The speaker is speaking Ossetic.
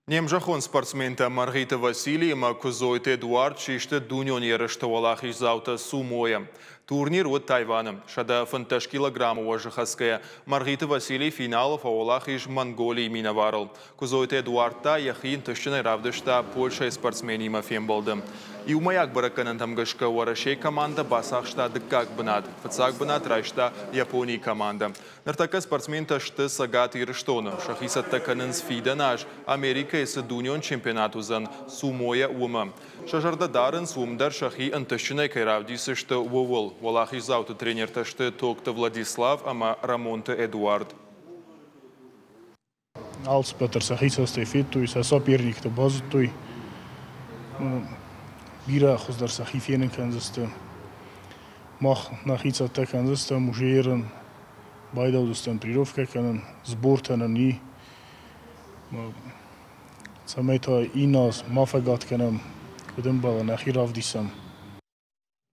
Не мзӕххон спортсментӕ Мӕргъиты Василий ӕмӕ Куыдзойты Эдуард систы дунеон ерысты уӕлахиздзаутӕ сумойӕ. Турнир уыд Тайваны. 115 килограммы уӕзы хӕцгӕйӕ, Мӕргъиты Василий финалы фӕуӕлахиз Монголийы минӕварыл. Куыдзойты Эдуард та йӕхи ӕнтыстджынӕй равдыста Польшӕйы спортсменимӕ фембӕлды. Иумӕйаг бӕрӕггӕнӕнтӕм гӕсгӕ Уӕрӕсейы командӕ бацахста дыккаг бынат. Фыццаг бынат райста Японийы командӕ. Ныртӕккӕ спортсментӕ сты Цӕгат Ирыстоны. Сӕхи цӕттӕ кӕнынц фидӕн аз Америкӕйы цы дунеон чемпионат уыдзӕн сумойӕ, уымӕ. Сӕ зӕрдӕ дарынц, уым дӕр сӕхи ӕнтыстджынӕй кӕй равдисдзысты, ууыл. Уӕлахиздзауты тренертӕ сты Токты Владислав ӕмӕ Рӕмонты Эдуард. Алцыппӕт дӕр сӕхи цӕстӕй федтой, сӕ соперникты базыдтой. Бирӕ хуыздӕр сӕхи фенын кӕндзысты. Мах нӕхи цӕттӕ кӕндзыстӕм уже ерын, байдаудзыстӕм тренировкӕ кӕнын, сбортӕ нын и. Цӕмӕй та иннӕ аз ма фӕгад кӕнӕм, куыд ӕмбӕлы, нӕхи равдисӕм.